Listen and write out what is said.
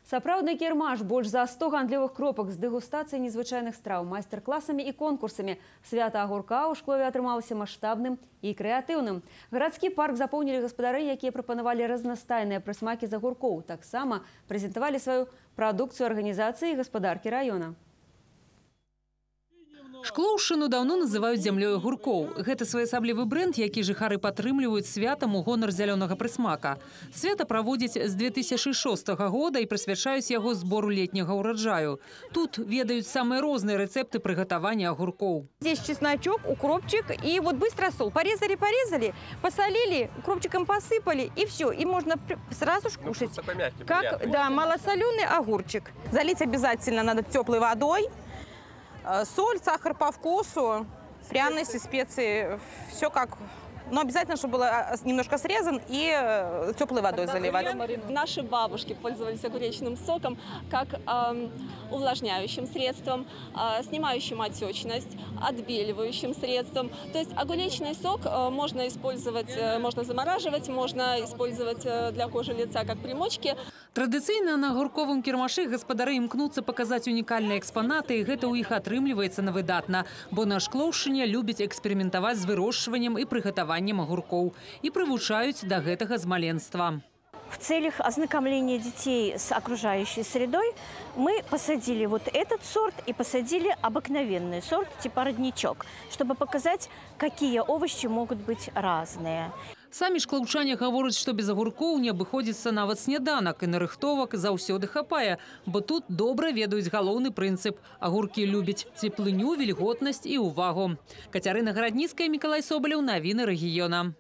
Сапраўдны кірмаш, больш за 100 гандлёвых кропак з дэгустацыяй незвычайных страў, майстар-класамі і конкурсамі. Свята агурка ў Шклове атрымалася маштабным і крэатыўным. Гарадскі парк запоўнілі гаспадары, якія прапанавалі разнастайныя прысмакі з агуркоў. Таксама прэзентавалі сваю прадукцыю арганізацыі і гаспадаркі раёна. Шклоўшчыну даўно называюць зямлёй агуркоў. Гэта своеасаблівы бренд, які жыхары падтрымліваюць святам у гонар зялёнага прысмака. Свята праводзяць з 2006 года і прысвячаюць яго збору летняга ўраджаю. Тут ведаюць самыя розныя рэцэпты прыгатавання агурков. Здесь чесночок, укропчик и вот быстро соль. Порезали, посолили, укропчиком посыпали и все. И можно сразу же кушать. Как, да, малосоленый огурчик. Залить обязательно надо теплой водой. Соль, сахар по вкусу, пряности, специи, все как... Но обязательно, чтобы было немножко срезан и теплой водой заливать. Наши бабушки пользовались огуречным соком как увлажняющим средством, снимающим отечность, отбеливающим средством. То есть огуречный сок можно использовать, можно замораживать, можно использовать для кожи лица как примочки. Традыцыйна на агурковым кірмашы гаспадары імкнуцца паказаць унікальныя экспанаты, і гэта ў іх атрымліваецца на выдатна, бо на Шклоўшчыне любяць эксперыментаваць з вырошчваннем і прыгатаваннем огурков и привучают до гэтага з маленства. В целях ознакомления детей с окружающей средой мы посадили вот этот сорт и посадили обыкновенный сорт типа родничок, чтобы показать, какие овощи могут быть разные. Самі шклоўчане гавораць, што без агуркоў не абыходзіцца нават сняданак, і нарыхтовак заўсёды хапае, бо тут добра ведаюць галоўны прынцып. Агуркі любяць цеплыню, вільготнасць і ўвагу. Кацярына Гарадніцкая, Мікалай Собалеў, навіны рэгіёна.